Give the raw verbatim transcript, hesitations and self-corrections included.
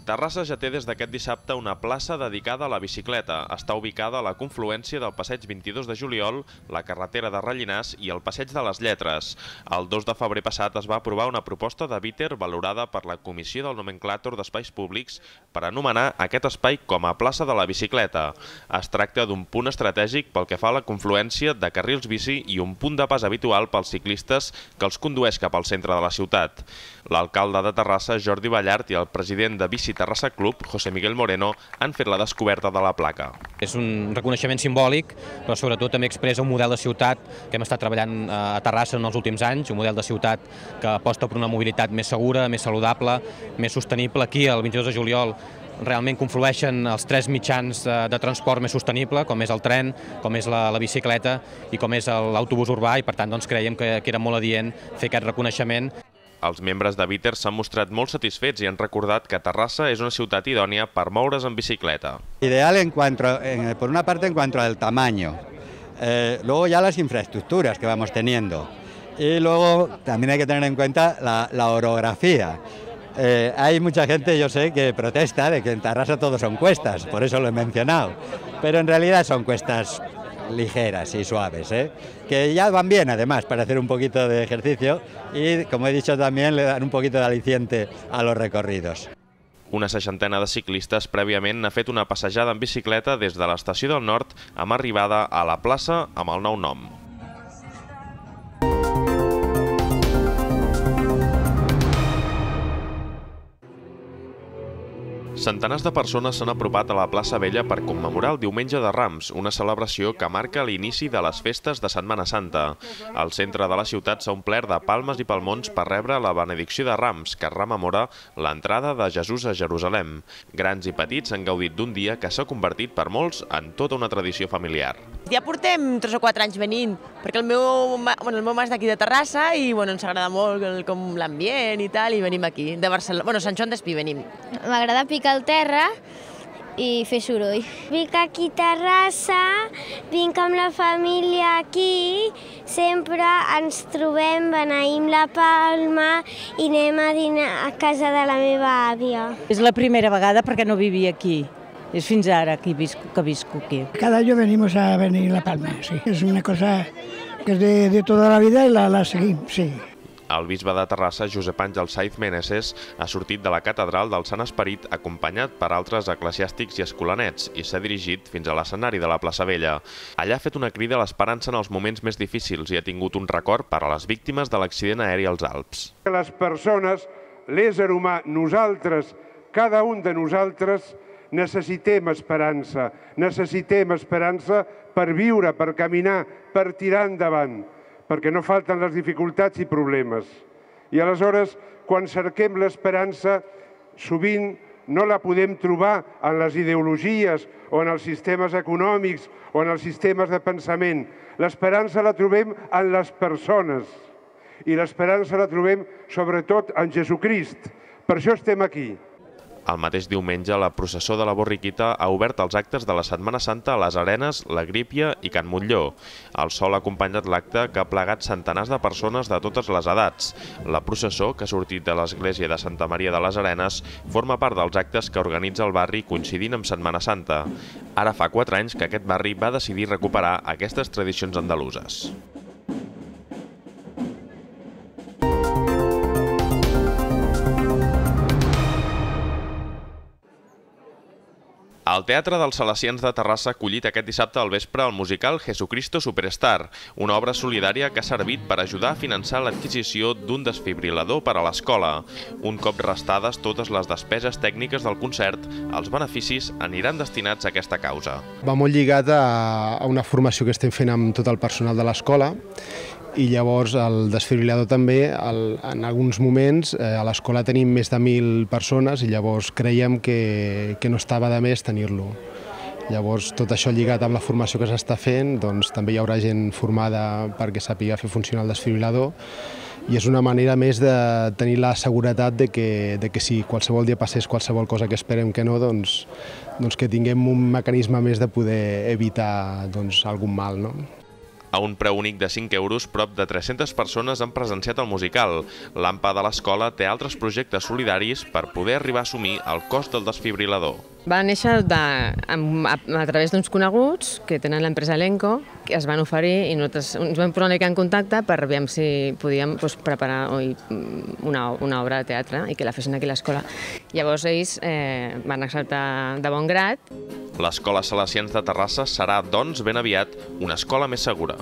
Terrassa ja té des d'aquest dissabte una plaça dedicada a la bicicleta. Està ubicada a la confluència del passeig vint-i-dos de juliol, la carretera de Rellinars i el passeig de les Lletres. El dos de febrer passat es va aprovar una proposta de Biter valorada per la Comissió del Nomenclàtor d'Espais Públics per anomenar aquest espai com a plaça de la bicicleta. Es tracta d'un punt estratègic pel que fa a la confluència de carrils bici i un punt de pas habitual pels ciclistes que els condueix cap al centre de la ciutat. L'alcalde de Terrassa, Jordi Ballart, i el president de Bici Terrassa Club, José Miguel Moreno, han fet la descoberta de la placa. És un reconeixement simbòlic, però sobretot també expressa un model de ciutat que hem estat treballant a Terrassa en els últims anys, un model de ciutat que aposta per una mobilitat més segura, més saludable, més sostenible. Aquí, el vint-i-dos de juliol, realment conflueixen els tres mitjans de transport més sostenible, com és el tren, com és la, la bicicleta i com és l'autobús urbà, i per tant doncs, creiem que, que era molt adient fer aquest reconeixement. Els membres de Biter s'han mostrat molt satisfets i han recordat que Terrassa és una ciutat idònia per moure's en bicicleta. Ideal en cuanto, en, por una parte en cuanto al tamaño, eh, luego ya las infraestructuras que vamos teniendo y luego también hay que tener en cuenta la, la orografía. Eh, hay mucha gente, yo sé, que protesta de que en Terrassa todo son cuestas, por eso lo he mencionado, pero en realidad son cuestas ligeras y suaves, ¿eh? Que ya van bien además para hacer un poquito de ejercicio y, como he dicho, también le dan un poquito de aliciente a los recorridos. Una seixantena de ciclistes prèviament ha fet una passejada en bicicleta des de l'estació del Nord amb arribada a la plaça amb el nou nom. Centenars de persones s'han apropat a la plaça Vella per commemorar el Diumenge de Rams, una celebració que marca l'inici de les festes de Setmana Santa. El centre de la ciutat s'ha omplert de palmes i palmons per rebre la benedicció de Rams, que rememora l'entrada de Jesús a Jerusalem. Grans i petits han gaudit d'un dia que s'ha convertit per molts en tota una tradició familiar. Ja portem tres o quatre anys venint, perquè el meu, bueno, el meu mas d'aquí de Terrassa i bueno, ens agrada molt el, com l'ambient i tal, i venim aquí, de Barcelona, bueno, Sant Joan d'Espí venim. M'agrada picar el terra i fer soroll. Vinc aquí a Terrassa, vinc amb la família aquí, sempre ens trobem, beneïm la palma i anem a dinar a casa de la meva àvia. És la primera vegada perquè no vivia aquí. Es fins ara que visco, que visco aquí. Cada año venimos a venir La Palma, sí. Es una cosa que es de, de toda la vida y la, la seguim, sí. El bisbe de Terrassa, Josep Àngel Saiz Meneses, ha sortit de la catedral del Sant Esperit acompanyat per altres eclesiàstics i escolanets i s'ha dirigit fins a l'escenari de la plaça Vella. Allà ha fet una crida a l'esperança en els moments més difícils i ha tingut un record per a les víctimes de l'accident aeri als Alps. Les persones, l'ésser humà, nosaltres, cada un de nosaltres, necessitem esperança, necessitem esperança per viure, per caminar, per tirar endavant, perquè no falten les dificultats i problemes. I aleshores, quan cerquem l'esperança, sovint no la podem trobar en les ideologies o en els sistemes econòmics o en els sistemes de pensament. L'esperança la trobem en les persones i l'esperança la trobem sobretot en Jesucrist. Per això estem aquí. El mateix diumenge, la processó de la Borriquita ha obert els actes de la Setmana Santa a les Arenes, la Grípia i Can Montlló. El sol ha acompanyat l'acte que ha plegat centenars de persones de totes les edats. La processó, que ha sortit de l'església de Santa Maria de les Arenes, forma part dels actes que organitza el barri coincidint amb Setmana Santa. Ara fa quatre anys que aquest barri va decidir recuperar aquestes tradicions andaluses. El Teatre dels Salesians de Terrassa ha acollit aquest dissabte al vespre el musical Jesucristo Superstar, una obra solidària que ha servit per ajudar a finançar l'adquisició d'un desfibrilador per a l'escola. Un cop restades totes les despeses tècniques del concert, els beneficis aniran destinats a aquesta causa. Va molt lligat a una formació que estem fent amb tot el personal de l'escola i llavors el desfibrilador també, el, en alguns moments eh, a l'escola tenim més de mil persones i llavors creiem que, que no estava de més tenir-lo. Llavors tot això lligat amb la formació que s'està fent, doncs també hi haurà gent formada perquè sàpiga fer funcionar el desfibrilador i és una manera més de tenir la seguretat de que, de que si qualsevol dia passés qualsevol cosa que esperem que no, doncs, doncs que tinguem un mecanisme més de poder evitar doncs, algun mal, no? A un preu únic de cinc euros, prop de tres-centes persones han presenciat el musical. L'A M P A de l'escola té altres projectes solidaris per poder arribar a assumir el cost del desfibrilador. Va néixer de, a, a través d'uns coneguts que tenen l'empresa Elenco, que es van oferir i nosaltres ens vam posar una mica en contacte per veure si podíem doncs, preparar oi, una, una obra de teatre i que la fessin aquí a l'escola. Llavors ells eh, van acceptar de bon grat. L'Escola Salesians de Terrassa serà, doncs, ben aviat una escola més segura.